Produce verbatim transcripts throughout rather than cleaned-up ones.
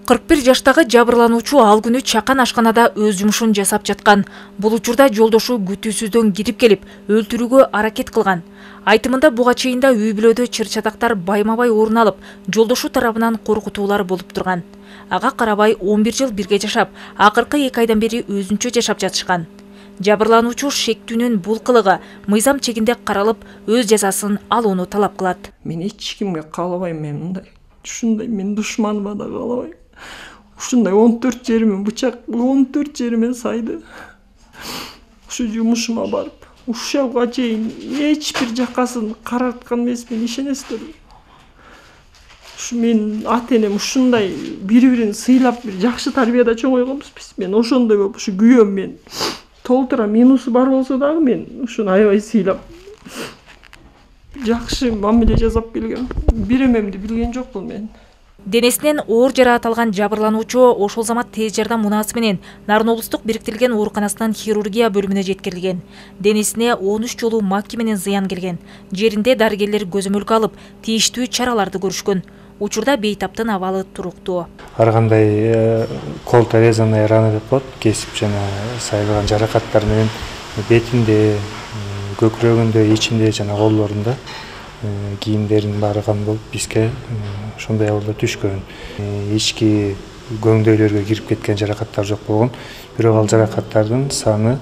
кырк бир жаштагы жабырлануучу ал күнү чакан ашканада өз жумушун жасап жаткан. Бул учурда жолдошу күтүүсүздөн кирип келип, өлтүрүүгө аракет кылган. Айтымында буга чейин да үй бүлөдө чыр-чатактар байма-бай орун алып, жолдошу тарабынан коркутуулар болуп турган. Ага карабай он бир жыл бирге жашап, акыркы эки айдан бери өзүнчө жашап жатышкан. Жабырлануучу шектүүнүн бул кылыгы мыйзам чегинде каралып, өз жазасын алууну талап кылат. Мен эч кимге каалабайм, мен мындай. Ушундай мен душманыма да каалабайм. Ушундай он төрт жериме бычак, он төрт жериме сайды. Ушу жумушума барып, ушуга чейин эч бир жакасын карарткан эмесмин, ишенесиздерби? Ушу мен ата-энем ушундай бири-бирин сыйлап, бир жакшы тарбияда чоңойгонбуз биз. Мен ошондой болуп, ушу күйөөм мен толтура минусу бар болсо дагы мен ушуну аябай сыйлап, жакшы мамиле жасап келгем. Биремемди билген жокмун мен. Денесинен оор жараат алган жабырлануучу ошол замат тез жардам унаасы менен Нарын облустук бириктирилген ооруканасынын хирургия бөлүмүнө жеткирилген. Денесине он үч жолу макки менен зыян келген. Жеринде дарыгерлер көзөмөлгө алып, тийиштүү чараларды көрүшкөн. Учурда бейтаптын абалы туруктуу. Ар кандай колто-резанный рана деп коет, кесип жана сайылган жаракаттар менен бетинде, көкүрөгүндө, ичинде жана колдорунда кийимдерин баары кан болуп, бизге ошондой абалда түшкөн. Ички көңдөйлөргө кирип кеткен жаракаттар жок болгон. Бирок ал жаракаттардын саны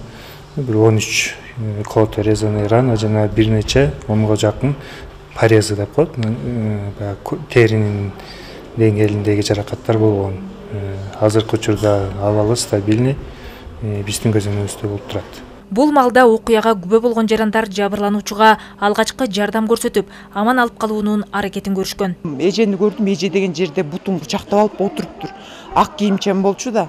бир он үч колто-резанный рана жана бир нече онго жакын порезы деп коет, теринин деңгээлиндеги жаракаттар болгон. Азыркы учурда абалы стабильный, биздин көзөмөлүбүздө болуп турат. Бул малда окуяга күбө болгон жарандар жабырлануучуга алгачкы жардам көрсөтүп, аман алып калуунун аракетин көрүшкөн. Эжени көрдүм, эже деген жерде бутун кучактап алып отуруптур. Ак кийимчен болчу да.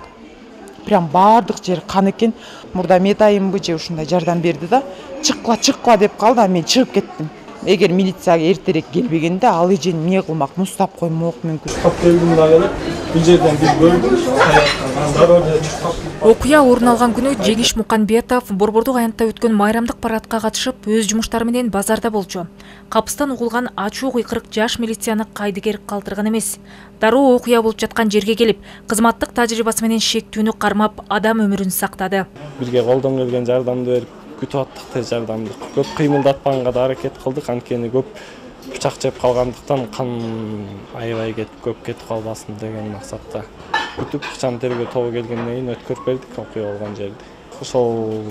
Прям бардык жер кан экен. Мурда медайымбы же ушундай жардам берди да. Чыккыла, чыккыла деп калды, а мен чыгып кеттим. Эгер милицияга эртерээк келбегенде ал эжени эмне кылмак, муздап коймок мүмкүн. Келдим дагы бул жерден биз көрдүк. Окуя орун алган күнү Жеңиш Муканбетов Борбордук аянтта өткөн майрамдык парадка катышып, өз жумуштары менен базарда болчу. Капыстан угулган ачуу кыйкырык жаш милицияны кайдыгер калтырган эмес. Дароо окуя болуп жаткан жерге келип, кызматтык тажрыйбасы менен шектүүнү кармап, адам өмүрүн сактады. Бизге колдон келген жардамды берип, күтүп аттык тез жардамды. Көп кыймылдатпаганга да аракет кылдык, анткени көп бычак жеп калгандыктан кан аябай кетип, көп кетип калбасын деген максатта күтүп ыкчам тергөө тобу келгенден кийин өткөрүп бердик окуя болгон жерди. Ошол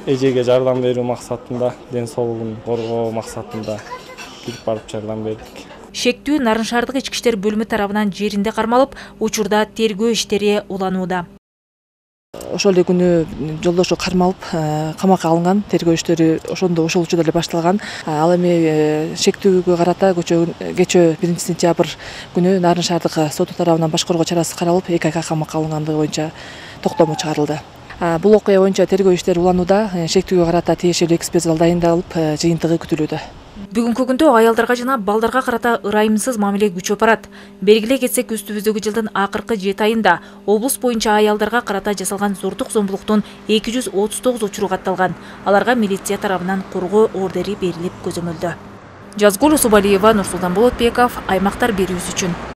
эжеге жардам берүү максатында, ден соолугун коргоо максатында кирип барып жардам бердик. Шектүү Нарын шаардык ички иштер бөлүмү тарабынан жеринде кармалып, учурда тергөө иштери уланууда. Ошол эле күнү жолдошу кармалып, камакка алынган, тергөө иштери ошондо ошол учурда эле башталган. Ал эми шектүүгө карата кечээ биринчи сентябрь күнү Нарын шаардык соту тарабынан башкаруу чарасы каралып, эки айга камакка алынгандыгы боюнча токтому чыгарылды. Бул окуя боюнча тергөө иштери уланууда, шектүүгө карата тиешелүү экспертиза дайындалып, жыйынтыгы күтүлүүдө. Бүгүнкү күндө аялдарга жана балдарга карата ырайымсыз мамиле күчөп барат. Белгилей кетсек, үстүбүздөгү жылдын акыркы жети айында облус боюнча аялдарга карата жасалган зордук зомбулуктун эки жүз отуз тогуз учуру катталган. Аларга милиция тарабынан коргоо ордери берилип көзөмөлдө. Жазгул Усубалиева, Нурсултан Болотбеков, аймактар берүүсү үчүн.